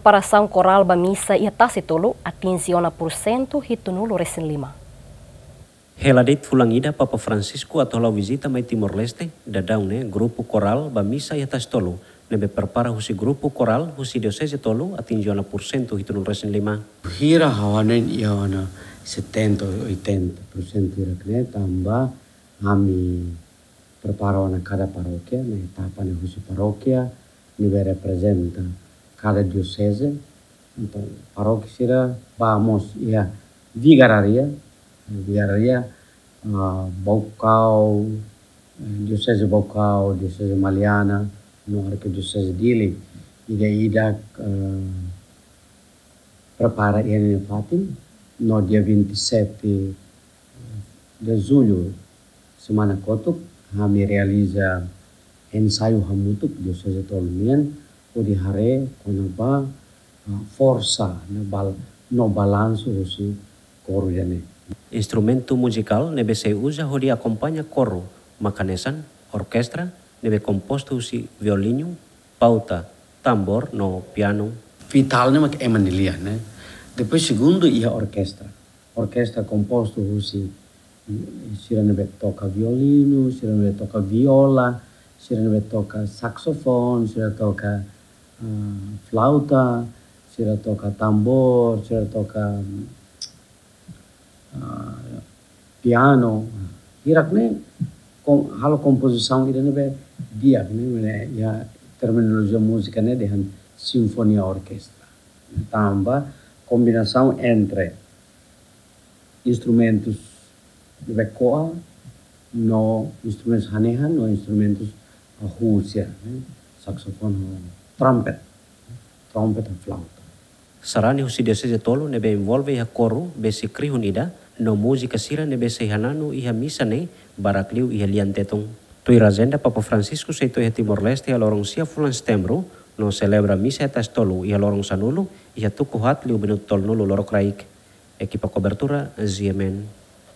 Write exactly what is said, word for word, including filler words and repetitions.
Preparasaun korál ba misa iha Tasi Tolu atinje ona pursentu hitunulu resin lima. Hela de'it fulan ida Papa Francisco atu hala'o vizita mai Timor-Leste, daudaun ne'e grupu korál ba misa iha Tasi Tolu ne'ebé prepara husi grupu korál husi dioseze tolu atinje ona pursentu hitunulu resin lima. Hira ha'u hanoin iha ona setenta, oitenta pursentu hirak ne'e tanba ami prepara ona kada parókia, ne'e etapa ne'e husi parókia ne'ebé reprezenta kada dioseze. Entaun, parókia sira ba mós iha vigararia, vigararia, ah, Baucau, eh, dioseze Baucau, dioseze Maliana, no arkidioseze Dili. Ida-idak, eh, prepara iha ninia fatin, no dia vinte e sete de julho, semana kotuk, ami realiza ensaiu hamutuk dioseze tolu nian, hodi haree kona-ba, ah, forsa no bal-, no balansu husi koru ida-ne'e. Instrumentu muzikál ne'ebé sei uza hodi akompaña koru maka hanesan orkestra ne'ebé kompostu husi violinu, pauta, tambór no pianu. Vitál ne'e mak ema nia lian, ne'e. Depois segundu iha orkestra. Orkestra kompostu husi sira ne'ebé toka violinu, sira ne'ebé toka viola, sira ne'ebé toka saksofon, sira toka, ah, flauta, sira toka tambór, sira toka, ah, pianu. Hirak ne'e kom-, halo kompozisaun ida ne'ebé di'ak ne'e, ne'e iha terminolojia múzika ne'e dehan sinfonia orkestra. Tanba kombinasaun entre instrumentus ne'ebé ko'a no instrumentus hanehan no instrumentus, ah, huu sira, ne'e, saksofon ho trumpet, trumpet ho flauta. Sarani husi dioseze tolu ne'ebé envolve iha koru besik rihun ida, no múzika sira ne'ebé sei hananu iha misa ne'e barak liu iha lian Tetun. Tuir ajenda, Papa Francisco sei to'o iha Timor-Leste iha loron sia fulan Setembru, no selebra misa iha Tasi Tolu iha loron sanulu, iha tuku haat liu minutu tolunulu lorokraik. Ekipa kobertura, G M N.